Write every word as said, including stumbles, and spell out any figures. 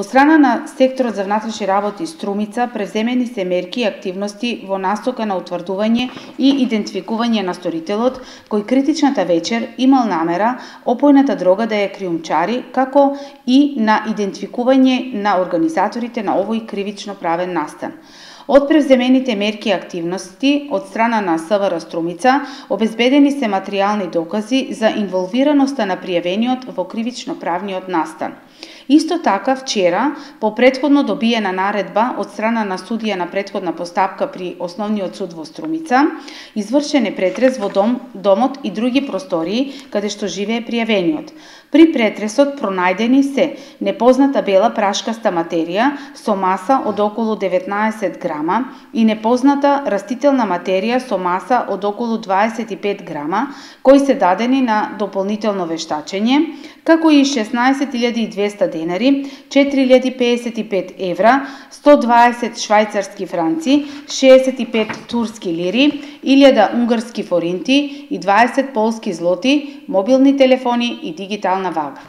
Од страна на секторот за внатрешни работи Струмица превземени се мерки и активности во насока на утврдување и идентификување на сторителот, кој критичната вечер имал намера опојната дрога да ја криумчари, како и на идентификување на организаторите на овој кривично правен настан. Од превземените мерки и активности од страна на СВР Струмица обезбедени се материјални докази за инволвираноста на пријавениот во кривично правниот настан. Исто така, вчера, по претходно добиена наредба од страна на судија на претходна постапка при Основниот суд во Струмица, извршен е претрес во дом, домот и други простории каде што живее пријавениот. При претресот пронајдени се непозната бела прашкаста материја со маса од околу деветнаесет грама и непозната растителна материја со маса од околу дваесет и пет грама, кои се дадени на дополнително вештачење, како и шеснаесет илјади и двесте денари, четири илјади пеесет и пет евра, сто дваесет швајцарски франци, шеесет и пет турски лири, илјада унгарски форинти и дваесет полски злоти, мобилни телефони и дигитална вага.